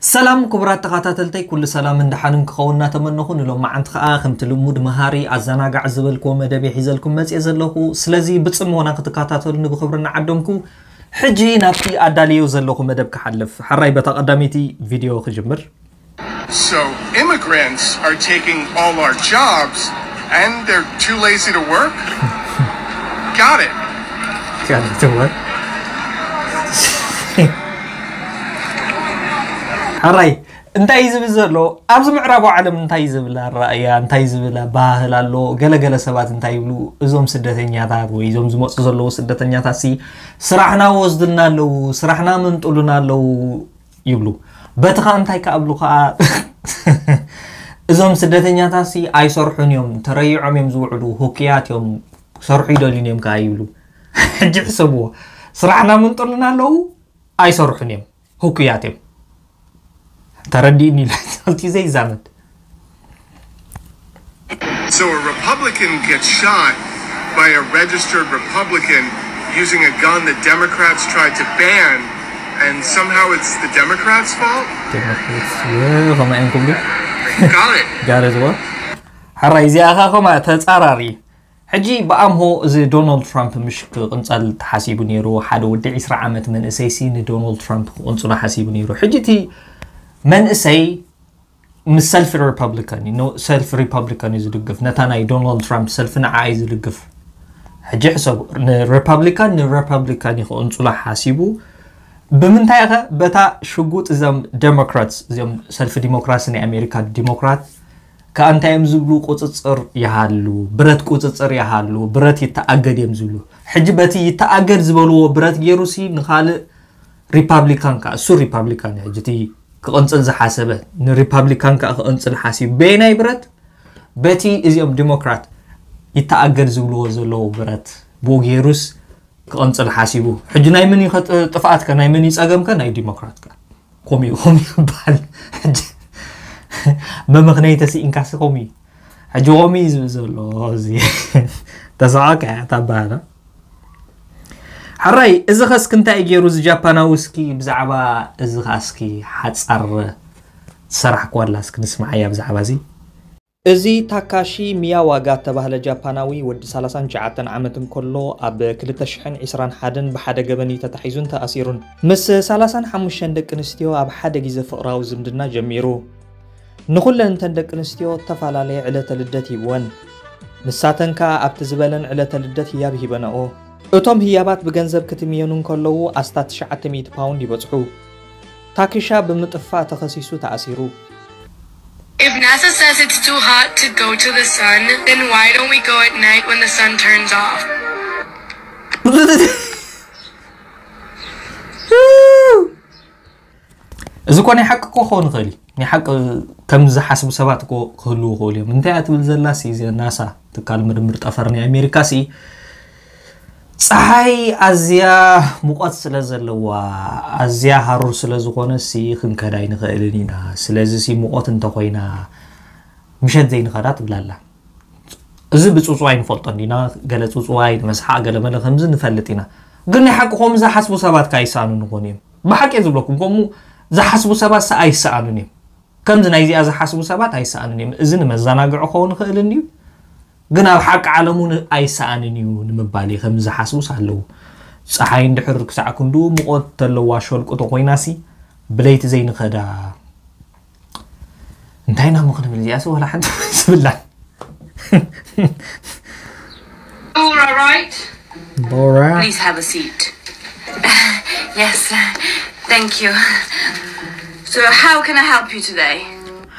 ሰላም ክቡራት ተኸታተልተይ፣ ኩሉ ሰላም እንደሓንን ክኸውን እናተመነኹ፣ ንሎማዓንቲ ኸኣ ከምቲ ልሙድ መሃሪ ኣዘናጋዕ ዝበልክዎ መደብ ሒዘልኩም መጽየ ዘለኹ። ስለዚ ብጽሞና ክትከታተሉኒ ብኽብሪ እናዓደምኩ፣ ሕጂ ናብቲ ኣዳልዮ ዘለኹ መደብ ክሓልፍ። ሕራይ በታ ቀዳመይቲ ቪድዮ ክጅምር። So immigrants are taking all our jobs and they're too lazy to work? Got it. Got it. ሕራይ እንታይ እዩ ዝብል ዘሎ? ኣብዚ ምዕራባዊ ዓለም እንታይ ዝብል ኣረኣእያ፣ እንታይ ዝብል ባህል ኣሎ? ገለገለ ሰባት እንታይ ይብሉ? እዞም ስደተኛታት ወይ እዞም ዝመፁ ዘለዉ ስደተኛታት ሲ ስራሕና ወስድና ኣለዉ፣ ስራሕና መንጥሉና ኣለዉ ይብሉ። በቲ ኸኣ እንታይ ክኣብሉ ኸኣ እዞም ስደተኛታት ሲ ኣይሰርሑን እዮም፣ ተረይዖም እዮም ዝውዕሉ፣ ህኩያት እዮም፣ ክሰርሑ ይደልዩን እዮም ከኣ ይብሉ። ሕጂ ሕሰብዎ፣ ስራሕና መንጥሉና ኣለዉ፣ ኣይሰርሑን እዮም፣ ህኩያት እዮም። ተረዲእኒ ኢለ ዛልቲ ዘይዛመድ። So a Republican gets shot by a registered Republican using a gun that Democrats tried to ban, and somehow it's the Democrats' fault? ከምኡ እዮም ክብሉ Got it. ጋር ዝዋ ሕራይ እዚኣ ኸ ከምኣ ተጻራሪ። ሕጂ ብኣምሆ እዚ ዶናልድ ትራምፕ ምሽ ክቕንጸል ተሓሲቡ ነይሩ። ሓደ ወዲ ዕስራ ዓመት መንእሰይሲ ንዶናልድ ትራምፕ ክቕንጽሎ ሓሲቡ ነይሩ። ሕጂ እቲ መንእሰይ ምስ ሰልፊ ሪፐብሊካን እዩ፣ ሰልፊ ሪፐብሊካን እዩ ዝድግፍ፣ ነታ ናይ ዶናልድ ትራምፕ ሰልፊ ንዓ እዩ ዝድግፍ። ሕጂ ሕሰቡ፣ ንሪፐብሊካን ንሪፐብሊካን እዩ ክቕንጽሎ ሓሲቡ። ብምንታይ ኸ? በታ ሽጉጥ እዞም ዴሞክራትስ፣ እዚኦም ሰልፊ ዲሞክራሲ ናይ ኣሜሪካ ዲሞክራት ከኣ እንታይ እዮም ዝብሉ? ቁፅፅር ይሃሉ፣ ብረት ቁፅፅር ይሃሉ፣ ብረት ይተኣገድ እዮም ዝብሉ። ሕጂ በቲ ይተኣገድ ዝበልዎ ብረት ገይሩሲ ንኻልእ ሪፓብሊካን ከኣ፣ እሱ ሪፓብሊካን እዩ፣ ሕጂ እቲ ክቕንፅል ዝሓሰበ ንሪፓብሊካን ከኣ ክቕንፅል ሓሲቡ። በየናይ ብረት? በቲ እዚኦም ዲሞክራት ይተኣገድ ዝብልዎ ዘለዉ ብረት ብኡ ገይሩስ ክቕንፅል ሓሲቡ። ሕጂ ናይ መን እዩ ጥፍኣትከ? ናይ መን እዩ ፀገምከ? ናይ ዲሞክራትከ? ከምኡ ከምኡ ይበሃል። ሕጂ መመኽነይ ተስኢንካሲ ከምኡ እዩ። ሕጂ ከምኡ እዩ ዝብል ዘሎ። እዚ ተስዓካ እያ ታባህላ። ሕራይ እዚ ኸስኪ እንታይ እዩ ገይሩ እዚ ጃፓናዊ? እስኪ ብዛዕባ እዚ ኸኣ እስኪ ሓጻር ዝሰራሕክዋ ኣላ እስኪ ንስምዓያ ብዛዕባ እዚ። እዚ ታካሺ ሚያዋጋ እተባህለ ጃፓናዊ ወዲ ሰላሳን ትሽዓተን ዓመት እንከሎ ኣብ ክልተ ሽሕን ዕስራን ሓደን ብሓደ ገበን እዩ ተታሒዙን ተኣሲሩን። ምስ ሰላሳን ሓሙሽተን ደቂ ኣንስትዮ ኣብ ሓደ ግዜ ፍቕራዊ ዝምድና ጀሚሩ። ንኹለን እተን ደቂ ኣንስትዮ እተፈላለየ ዕለተ ልደት ሂብወን። ንሳተን ከኣ ኣብቲ ዝበለን ዕለተ ልደት ህያብ ሂበንኦ። እቶም ህያባት ብገንዘብ ክትምየኑ እንከለዉ ኣስታት ትሽዓተ ሚእቲ ፓውንድ ይበጽሑ። ታኪሻ ብምጥፋእ ተኸሲሱ ተኣሲሩ። If NASA says it's too hot to go to the sun, then why don't we go at night when the sun turns off? እዚ እኮ ናይ ሓቂ እኮ ክኸውን ይኽእል እዩ። ናይ ሓቂ ከም ዝሓስቡ ሰባት እኮ ክህልዉ ይኽእሉ እዮም። እንታይ እያ ትብል ዘላሲ እዚ ናሳ ትካል ምርምር ጠፈር ናይ ኣሜሪካ ሲ ፀሓይ ኣዝያ ሙቐት ስለ ዘለዋ ኣዝያ ሃሩር ስለ ዝኾነ ሲ ክንከዳ ኣይንኽእልን ኢና። ስለዚ ሲ ሙቐት እንተኾይና ምሸት ዘይንኸዳ ትብላላ። እዚ ብፅፅዋይ ንፈልጦ እንዲና፣ ገለ ፅፅዋይ ንመስሓቕ ገለ መለ ከምዚ ንፈልጥ ኢና። ግን ናይ ሓቂ ከምኡ ዝሓስቡ ሰባት ከ ኣይሰኣኑን ይኾኑ እዮም። ብሓቂ እየ ዝብለኩም፣ ከምኡ ዝሓስቡ ሰባት ሰ ኣይሰኣኑን እዮም። ከምዚ ናይዚኣ ዝሓስቡ ሰባት ኣይሰኣኑን እዮም። እዚ ንመዘናግዒ ክኸውን ይኽእል እንድዩ፣ ግን ኣብ ሓቂ ዓለም እውን ኣይሰኣንን እዩ ንምባል እዩ። ከምዚ ዝሓስቡስ ኣለዉ። ፀሓይ እንድሕር ክሳዕ ክንድኡ ሙቐት ተለዋ ሸልቁ ተኾይናሲ ብለይቲ ዘይንኸዳ እንታይ ኢና እሞ ክንብል እዚኣሲ ዋላ ሓንቲ ዝብላን All right. ቦራ Please have a seat. Yes, thank you. So, how can I help you today?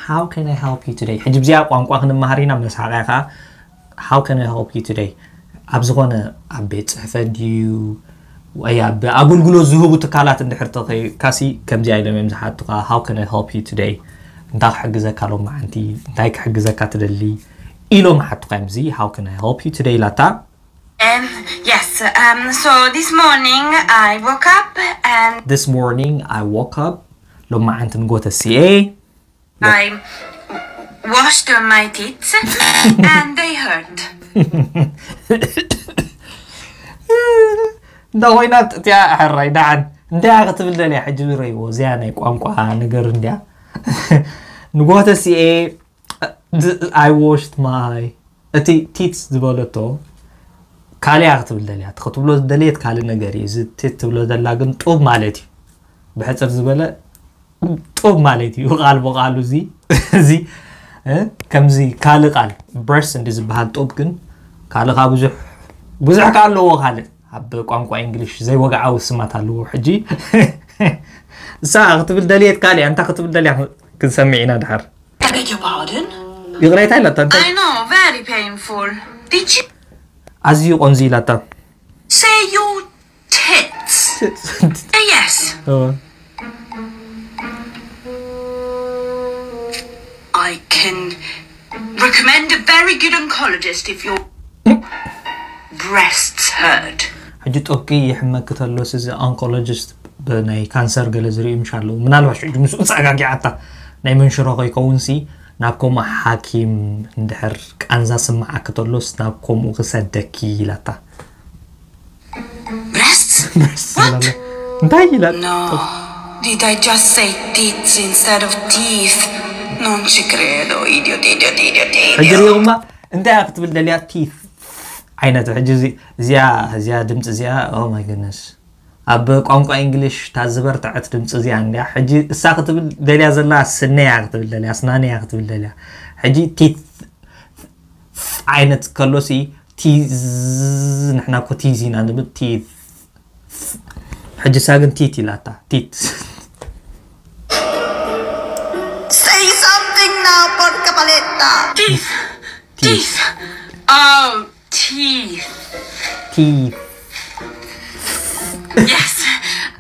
How can I help you today? ሕጂ ብዚኣ ቋንቋ ክንመሃር ኢና። መሳቕያ ከዓ how can I help you today? ኣብ ዝኾነ ኣብ ቤት ፅሕፈት ድዩ ወይ ኣብ ኣገልግሎት ዝህቡ ትካላት እንድሕር ተኸይድካሲ ከምዚኣ ኢሎም እዮም ዝሓቱኻ። How can I help you today? እንታይ ክሕግዘካ ሎማዓንቲ? እንታይ ክሕግዘካ ትደሊ? ኢሎም ሓቱኻ እዮም። እዚ how can I help you today ኢላታ Um, yes, um, so this morning I woke up and This morning I woke up. ሎማዓንቲ ንጎተ ሲኤ I washed my teeth and they hurt. እንዳ ኮይና እቲኣ ሕራይ ደሓን እንታይ ክትብል ደልያ ሕጂ? ዝረይዎ እዚኣ ናይ ቋንቋ ነገር እንድያ። ንጎተ ሲኤ፣ I washed my፣ እቲ ቲትስ ዝበለቶ ካልያ ክትብል ደልያ። እቲ ክትብሎ ዝደልየት ካልእ ነገር እዩ። እዚ ቲት ትብሎ ዘላ ግን ጡብ ማለት እዩ። ብሕፅር ዝበለ ጡብ ማለት እዩ። ቃል ብቃሉ እዚ እዚ እ፣ ከምዚ ካልእ ቃል ብረስት እንዲ ዝበሃል ጡብ ግን ካልእ ከዓ ብዙሕ ብዙሕ ከዓ ኣለዎ። ካልእ ኣብ ቋንቋ እንግሊሽ ዘይወግዓዊ ስማት ኣለዎ። ሕጂ እሳ ክትብል ደልየት ካልያ፣ እንታ ክትብል ደልያ ክንሰምዕ ኢና ድሓር። I beg your pardon? ይቕሬታ ኢላታ እንታይ I know, very painful. Did you ኣዝዩ ቆንዚ ኢላታ። Say your tits? Uh, yes. ኦ፣ I can recommend a very good oncologist if your breasts hurt. ሕጂ ጦብቂ ይሕመክ ተሎስ እዚ ኦንኮሎጂስት ብናይ ካንሰር ገለ ዝርእዩ ምሽ ኣለዉ። ምናልባት ሽዑ ምስኡ ጸጋጊዓታ ናይ መንሽሮ ከይከውንሲ ናብ ከምኡ ሓኪም እንድሕር ቃንዛ ስምዓክ ተሎስ ናብ ከምኡ ክሰደኪ ኢላታ። Breasts? እንታይ ኢላ? No. Did I just say tits instead of teeth? Non ci credo, idiot, idiot, idiot, ሕጂ idiot. ሪኦማ እንታይ እያ ክትብል ደልያ? ቲት ዓይነት። ሕጂ እዚ- እዚኣ እዚኣ ድምፂ እዚኣ፣ oh my goodness፣ ኣብ ቋንቋ እንግሊሽ እታ ዝበርትዐት ድምፂ እዚኣ እንድያ። ሕጂ እሳ ክትብል ደልያ ዘላ ስነያ ክትብል ደልያ፣ ስናነያ ክትብል ደልያ። ሕጂ ቲት ዓይነት ከሎሲ ቲዝ፣ ንሕና እኮ ቲዝ ኢና ንብል። ቲት። ሕጂ እሳ ግን ቲት ኢላታ። ቲት። Say something now, porca paletta. Teeth. Teeth. Oh, teeth. ቲት። Yes.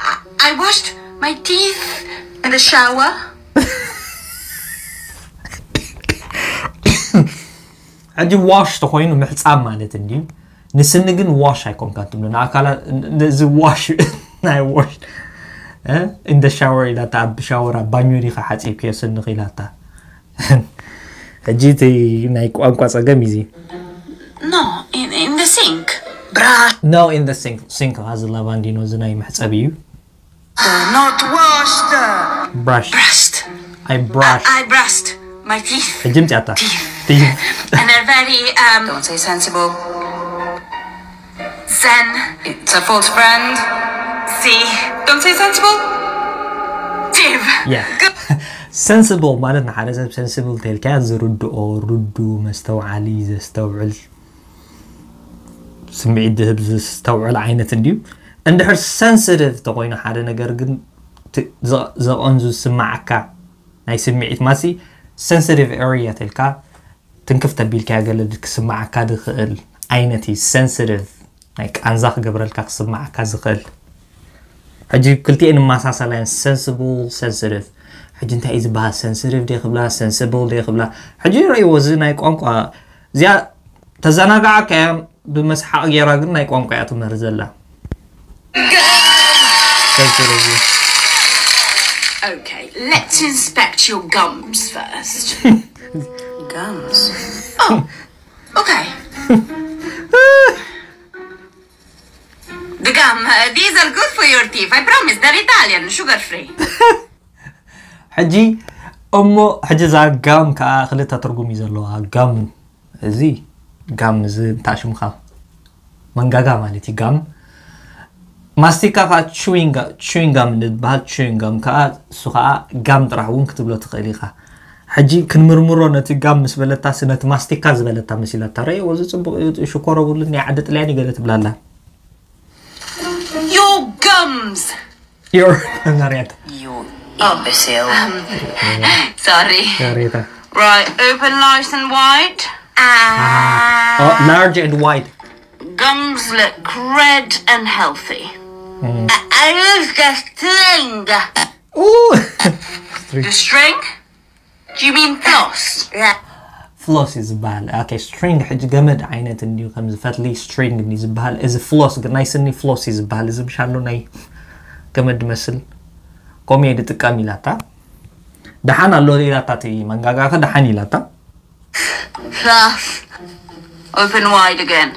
I, I washed my teeth in the shower. ሕጂ ዋሽ ተኮይኑ ምሕፃብ ማለት እንድዩ። ንስኒ ግን ዋሽ ኣይኮንካን ትብሎ። ንኣካላ ነዚ ዋሽ ናይ ዋሽ in the shower ኢላታ፣ ኣብ ሻወር ኣብ ባኞ ዲኻ ሓፂብክዮ ስንኺ ኢላታ። ሕጂ እቲ ናይ ቋንቋ ፀገም እዩ እዚ። No, in, in the sink. Brush. No, in the sink. ሲንክ እዚ ላቫንዲኖ እዚ ናይ መሕፀቢ እዩ። Not washed. Brush. Brushed. I brush. I brushed my teeth. ሕጂ ምፅያታ። Teeth. ቲት። And they're very, um, don't say sensible. Zen. It's a false friend. See, don't say sensible. Div. Yeah. Sensible ማለት ንሓደ ሰብ ሰንስብል ተልካ ዝርድኦ፣ ርዱ፣ መስተውዓሊ፣ ዘስተውዕል፣ ስምዒት ዝህብ፣ ዘስተውዕል ዓይነት እንድዩ። እንድሕር ሰንስቲቭ ተኮይኑ ሓደ ነገር ግን ት- ዘ- ዘቐንዙ ዝስማዓካ ናይ ስምዒት ማሲ ሰንስቲቭ ኤሪያ ተልካ ትንክፍ ተቢልካ ገለ ክስማዓካ ዝኽእል ዓይነት እዩ። ሰንስቲቭ ናይ ቃንዛ ክገብረልካ ክስማዓካ ዝኽእል። ሕጂ ክልቲኤን ይመሳሰላ እየን፣ ሰንስብል፣ ሰንስቲቭ። ሕጂ እንታይ እዩ ዝበሃል? ሰንስቲቭ ደ ክብላ፣ ሰንስብል ደ ክብላ? ሕጂ ረእይዎ፣ እዚ ናይ ቋንቋ እዚኣ ተዘናጋዓካ እያ ብመስሓቕ ገይራ፣ ግን ናይ ቋንቋ እያ ትምህር ዘላ። ሰንስቲቭ። Okay, let's inspect your gums first. Gums? Oh, okay. The gum, uh, these are good for your teeth. I promise, they're Italian, sugar free. ሕጂ እሞ ሕጂ እዛ ጋም ከዓ ክልተ ትርጉም እዩ ዘለዋ። ጋም እዚ ጋም እዚ እንታይ ሽምካ መንጋጋ ማለት እዩ። ጋም ማስቲካ ከዓ ቹዊንጋም ዝበሃል ቹዊንጋም ከዓ እሱ ከዓ ጋም ጥራሕ እውን ክትብሎ ትኽእል ኢኻ። ሕጂ ክንምርምሮ ነቲ ጋም ምስ በለታሲ ነቲ ማስቲካ ዝበለታ መሲላታ ረእዎ። እዚ ፅቡቅ እዩ፣ ሽኮር ኣብሉኒ፣ ዓዲ ጥልያን እዩ ገለ ትብላላ። Your gums. Your መሪያት You imbecile. Sorry. ሬታ Right, open nice and wide. Ah. Oh, large and wide. Gums look red and healthy. I, I use the string. Ooh. The string? Do you mean floss? Yeah. ፍሎስ እዩ ዝበሃል። ኦኬ፣ ስትሪንግ ሕጂ ገመድ ዓይነት እንድዩ፣ ከምዚ ፈትሊ ስትሪንግ እንድዩ ዝበሃል። እዚ ፍሎስ ግን ናይ ስኒ ፍሎስ እዩ ዝበሃል። እዚ ምሽ ኣሎ ናይ ገመድ መስል፣ ከምኡ እየ ዝጥቀም ኢላታ። ደሓን ኣሎ ኢላታ፣ እቲ መንጋጋኸ ደሓን ኢላታ። Floss. Open wide again.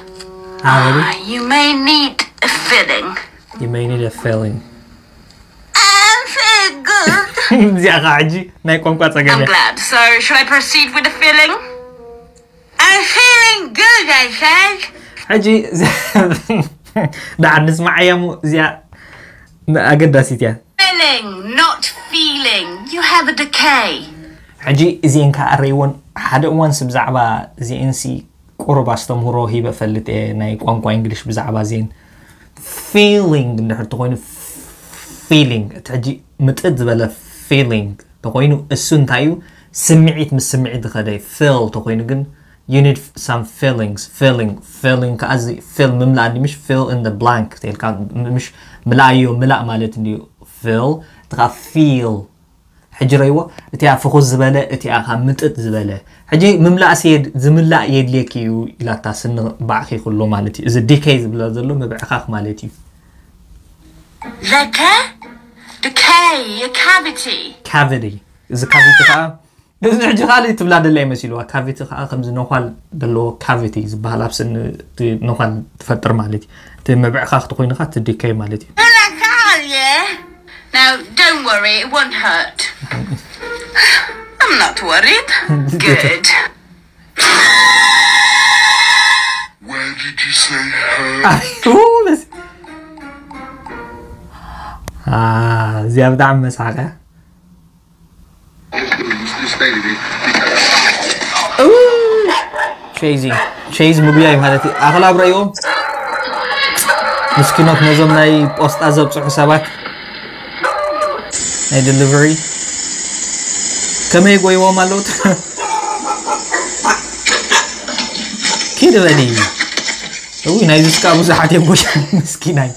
ኣበሉ Ah, you may need a filling. You may need a filling. I'm feeling good. እዚኣ ከዓ ሕጂ ናይ ቋንቋ ጸገም I'm እያ። Glad. So, should I proceed with the filling? I'm feeling good, I said. ሕጂ ደሓን ንስማዓያ እሞ እዚኣ ኣገዳሲት እያ። Filling, not feeling. You have a decay. ሕጂ እዚኤን ከዓ ኣረይዎን ሓደ እዋንስ ብዛዕባ እዚኤንሲ ቁሩብ ኣስተምህሮ ሂበ ፈልጥ እየ ናይ ቋንቋ እንግሊሽ ብዛዕባ እዚኤን። ፊሊንግ እንድሕር ተኮይኑ ፊሊንግ እቲ ሕጂ ምጥጥ ዝበለ ፊሊንግ ተኮይኑ እሱ እንታይ እዩ? ስምዒት ምስ ስምዒት ዝኸደ ፊል ተኮይኑ ግን you need some feelings feeling feeling ከዓ እዚ ፊል ምምላእ እንዲ ምሽ fill in the blank ተልካ ምሽ ምላእዮ ምላእ ማለት እንዲዩ ፊል እትኻ ፊል ሕጂ ረይዎ እቲኣ ፍኹስ ዝበለ እቲኣ ካብ ምጥጥ ዝበለ ሕጂ ምምላእ ስየድ ዝምላእ የድልየኪ እዩ ኢላታ ስኒ ባዕኺ ኩሎ ማለት እዩ እዚ ዲከይ ዝብለ ዘሎ ምብዕኻኽ ማለት እዩ Decay? Decay, a cavity. ካቪቲ እዚ ካቪቲ ከዓ እዚ ሕጂ ካልእ ትብላ ደላ ይመሲልዋ ካቪቲ ከዓ ከምዚ ነኳል ዘለዎ ካቪቲ ዝበሃል ኣብ ስኒ እቲ ነኳል ትፈጥር ማለት እዩ እቲ ምብዕኻኽ ተኮይንካ እቲ ዲከይ ማለት እዩ Well, I got you. Now, don't worry, it won't hurt. I'm not worried. Good. Where did you say her? ኣቤቱ፣ በስ- አ፣ እዚኣ ብጣዕሚ መስሓቅ እያ። This lady, ሸይዚ ሸይዝ ምግቢ እዩ ማለት እዩ ኣኽላብ ረእይዎም ምስኪኖት ነዞም ናይ ፖስጣ ዘብፅሑ ሰባት ናይ ዴሊቨሪ ከመይ ጎይዎም ኣለዉ ኪድ በሊ እው ናይዚ ስካ ብዙሓት እዮም ጎይታ ምስኪናይ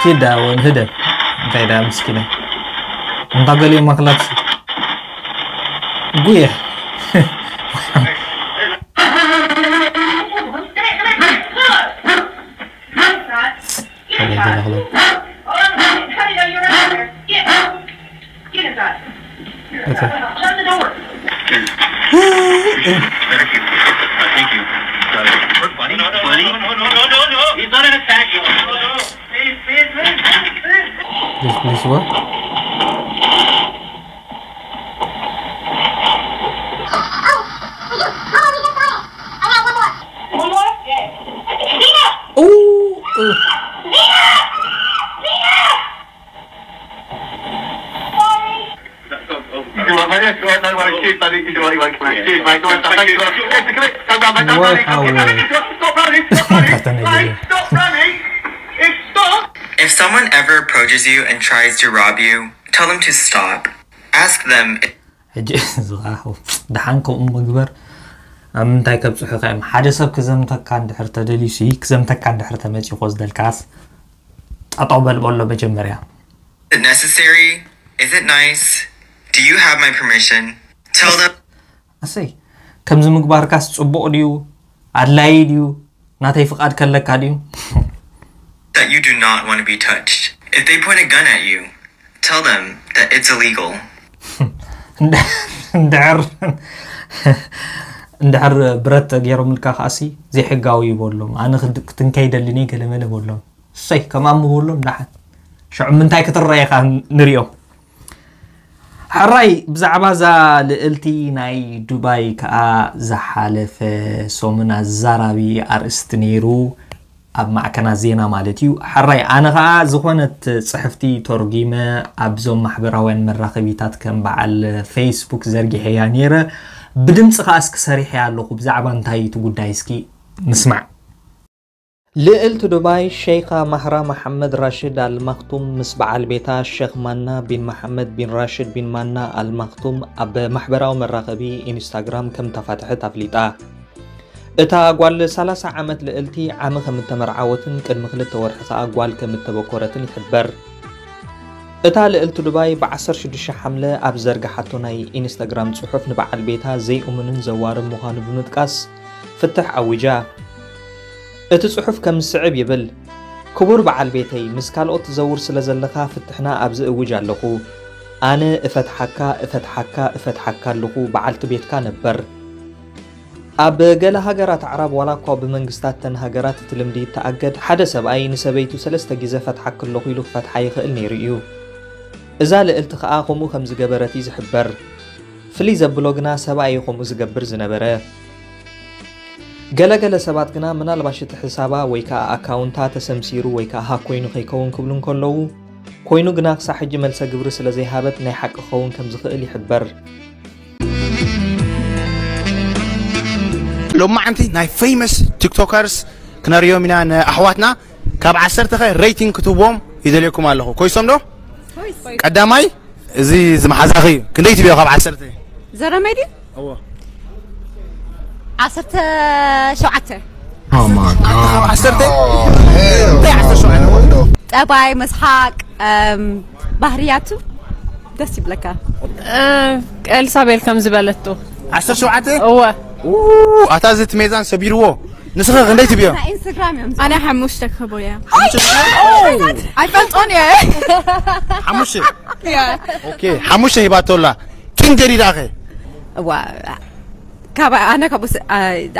ኪዳ እውን ህደብ እንታይ ዳ ምስኪናይ እንታ ገሊኦም ማክላት ጉየ If someone ever approaches you and tries to rob you, tell them to stop. Ask them. ሕጂ ደሓን ከምኡ ምግበር ኣብ ምንታይ ከብፅሑካ እዮም ሓደ ሰብ ክዘምተካ እንድሕር ተደልዩሲ ክዘምተካ እንድሕር ተመፂኡ ኮዝደልካስ ጠጠው በል በሎ መጀመርያ Is it necessary? Is it nice? Do you have my permission? Tell them. ኣሰይ ከምዚ ምግባርካስ ፅቡቕ ድዩ ኣድላዪ ድዩ ናተይ ፍቓድ ከለካ ድዩ That you do not want to be touched. If they point a gun at you, tell them that it's illegal. እንድሕር እንድሕር ብረት ገይሮምልካ ከዓሲ ዘይሕጋዊ ይበሎም ኣነ ክትንከይ ደልኒ ገለመለ በሎም እሰይ ከማም በሎም ዳሓን ሽዑ ምንታይ ክትረአ ኢኻ ንሪኦ ሕራይ ብዛዕባ እዛ ልእልቲ ናይ ዱባይ ከኣ ዝሓለፈ ሰሙን ኣዛራቢ ኣርእስቲ ነይሩ ኣብ ማዕከናት ዜና ማለት እዩ። ሕራይ ኣነ ከኣ ዝኾነት ጽሕፍቲ ተርጒመ ኣብዞም ማሕበራውያን መራኸቢታት ከም በዓል ፌስቡክ ዘርጊሐያ ነይረ። ብድምጺ ከኣ እስኪ ሰሪሐያ ኣለኹ። ብዛዕባ እንታይ እዩ እቲ ጉዳይ እስኪ ንስማዕ። ልእልቲ ዱባይ ሸይኻ ማህራ መሓመድ ራሽድ ኣል ማክቱም ምስ በዓል ቤታ ሸኽ ማና ቢን መሓመድ ቢን ራሽድ ቢን ማና ኣል ማክቱም ኣብ ማሕበራዊ መራኸቢ ኢንስታግራም ከም ተፋትሐት ኣፍሊጣ። እታ ጓል ሰላሳ ዓመት ልእልቲ ዓሚ ከም እተመርዓወትን ቅድሚ ክልተ ወርሒ ከኣ ጓል ከም እተበኮረትን ይሕበር። እታ ልእልቲ ዱባይ ብ ዓሰርተ ሽዱሽተ ሓምለ ኣብ ዝዘርግሓቶ ናይ ኢንስታግራም ጽሑፍ ንበዓል ቤታ ዘይእሙንን ዘዋርን ምዃኑ ብምጥቃስ ፍትሕ ኣዊጃ። እቲ ጽሑፍ ከም ዝስዕብ ይብል፣ ክቡር በዓል ቤተይ፣ ምስ ካልኦት ትዘውር ስለ ዘለኻ ፍትሕና ኣብዚ እውጅ ኣለኹ። ኣነ እፈትሓካ፣ እፈትሓካ፣ እፈትሓካ ኣለኹ፣ በዓልቲ ቤትካ ነበር። ኣብ ገለ ሃገራት ኣዕራብ ዋላ እኳ ብመንግስታት ተን ሃገራት እቲ ልምዲ ይተኣገድ፣ ሓደ ሰብኣይ ንሰበይቱ ሰለስተ ግዘ ፈትሓኪ ኣለኹ ኢሉ ክፈትሓ ይኽእል ነይሩ እዩ። እዛ ልእልቲ ከኣ ከምኡ ከም ዝገበረት እዩ ዝሕበር። ፍልይ ዘብሎ ግና ሰብኣይ እዩ ከምኡ ዝገብር ዝነበረ። ገለ ገለ ሰባት ግና ምናልባሽ እቲ ሕሳባ ወይ ከኣ ኣካውንታ ተሰምሲሩ ወይ ከኣ ሃክ ኮይኑ ከይከውን ክብሉ እንከለዉ፣ ኮይኑ ግና ክሳዕ ሕጂ መልሰ ግብሪ ስለ ዘይሃበት ናይ ሓቂ ክኸውን ከም ዝኽእል ይሕበር። ሎማዓንቲ ናይ famous tiktokers ክነርእዮም ኢና ንኣሕዋትና። ካብ ዓሰርተ ከ rating ክትህቦም ይደልየኩም ኣለኹ። ኮይሶም ዶ? ቀዳማይ እዚ ዝመሓዛኺ ክንደይ ትብዮ ካብ ዓሰርተ? ዘረመይ ድዩ? እዎ። ዓሰርተ ሸውዓተ። ዓሰርተ? እንታይ ዓሰርተ ሸውዓተ? ጠባይ፣ መስሓቅ፣ እም፣ ባህርያቱ ደስ ይብለካ። ኤልሳቤል ከም ዝበለቶ ዓሰርተ ሸውዓተ? እወ ኣታ እዚ እቲ ሜዛን ሰቢርዎ። ንስኺ ክንደይ ትብዮ? ኢንስታግራም እዮም። ኣነ ሓሙሽተ ክህቦ እየ። ሓሙሽተ ትብዮ? ኣይፈልጦን እየ። ሓሙሽተ? እየ። ኦኬ፣ ሓሙሽተ ሂባቶ ኣላ። ኪንግ ጀዲዳ ከ? እዋ ካብ ኣነ ካብኡ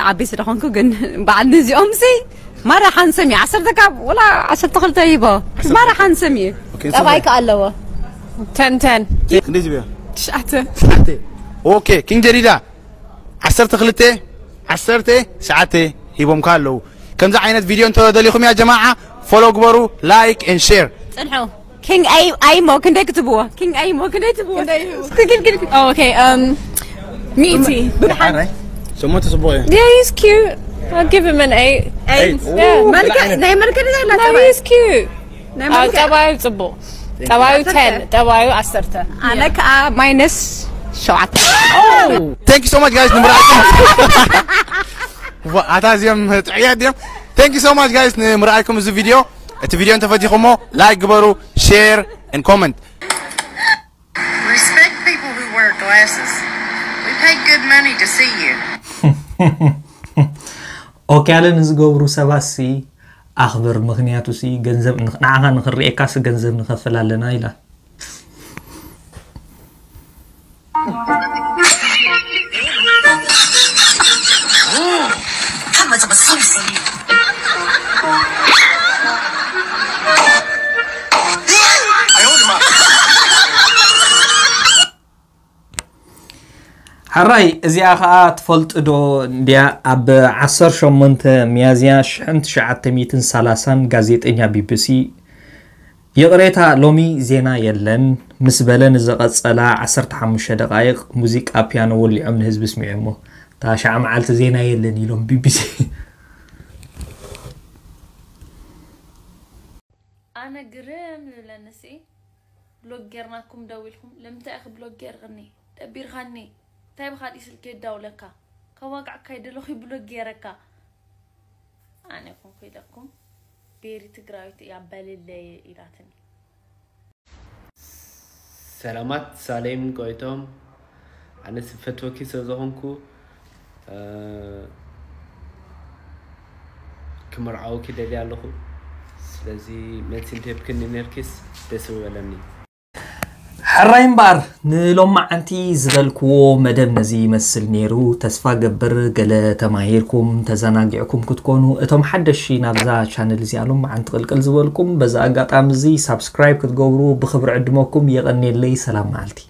ዓቢ ስለኾንኩ ግን በዓል ንዚኦም ሲ ማራ ሓንሰም እዩ። ዓሰርተ ካብ ወላ ዓሰርተ ክልተ ይቦ ማራ ሓንሰም እዩ። ጠባይ ከ ኣለዎ። ተንተን ክንደይ ትብዮ? ትሽዓተ። ኦኬ፣ ኪንግ ጀዲዳ ዓሰርተ ክልተ፣ ዓሰርተ ትሽዓተ ሂቦምካ ኣለዉ። ከምዚ ዓይነት ቪድዮ እንተደሊኹም ያ ጀማዓ follow ግበሩ፣ like and share። ጽንሑ። ኪንግ ኣይ ኣይሞ ክንደይ ክትብዎ? ኪንግ ኣይሞ ክንደይ ትብዎ? እስኪ ግል ግል ግል። ኦኬ እም ሚእቲ። ሸሞንተ ጽቡቕ እዩ። Yeah, he's cute. I'll give him an eight. Eight. Yeah. መልከ ናይ መልከ ደዛ No, he's cute. ናይ ኣዎ፣ መልከ ጠባዩ ጽቡቕ። ጠባዩ ten፣ ጠባዩ ዓሰርተ። ኣነ ከኣ ማይነስ ሸውዓተ። Thank you so much guys ንምርኣይኩም። ዋ፣ ኣታ እዚኦም ጥዕያት ድዮም። Thank you so much guys ንምርኣይኩም እዚ ቪድዮ። እቲ ቪድዮ እንተፈቲኹሞ like ግበሩ፣ share and comment። Respect people who wear glasses. We pay good money to see you. ኦክያለ ንዝገብሩ ሰባት ሲ ኣኽብር፣ ምኽንያቱ ሲ ገንዘብ ንዓኻ ንኽርኤካ ሲ ገንዘብ ንኸፍል ኣለና ኢላ። ሕራይ እዚኣ ኸኣ ትፈልጡ ዶ እንድያ? ኣብ ዓሰርተ ሸሞንተ ሚያዝያ ሽሕን ትሽዓተ ሚእትን ሰላሳን ጋዜጠኛ ቢቢሲ ይቕሬታ ሎሚ ዜና የለን ምስ በለ ንዝቐጸላ ዓሰርተ ሓሙሽተ ደቓይቕ ሙዚቃ ፒያኖ ወሊዖም ንህዝቢ ኣስሚዖሞ። እታ ሸዓ መዓልቲ ዜና የለን ኢሎም ቢቢሲ። ኣነ ግርም ዝብለኒ ሲ ብሎግ ጌርናኩም ደው ኢልኩም ልምንታይ ኢኺ ብሎግ ጌርኽኒ ደቢርኻኒ እንታይ ብኻሊእ ስልኪ የዳውለካ ከዋግዓካ ይደለኹ ብሎግ ጌረካ ኣነ ኮንኩ ኢለኩም ቤሪ ትግራዊት እያ በልለይ ኢላትኒ። ሰላማት ሳሌም ጎይቶም ኣነ ዝፈትወኪ ስለ ዝኾንኩ ክምርዓወኪ ደልየ ኣለኹ። ስለዚ መልሲ እንተሂብክኒ ነርኪስ ደስ ምበለኒ። ሕራይ እምበኣር ንሎማዓንቲ ዝበልክዎ መደብ ነዚ ይመስል ነይሩ። ተስፋ ገብር ገለ ተማሂርኩም ተዘናጊዕኩም ክትኮኑ። እቶም ሓደሽቲ ናብዛ ቻነል እዚኣ ሎማዓንቲ ቅልቅል ዝበልኩም በዚ ኣጋጣሚ እዚ ሳብስክራይብ ክትገብሩ ብኽብሪ ዕድመኩም። የቐንየለይ። ሰላም መዓልቲ።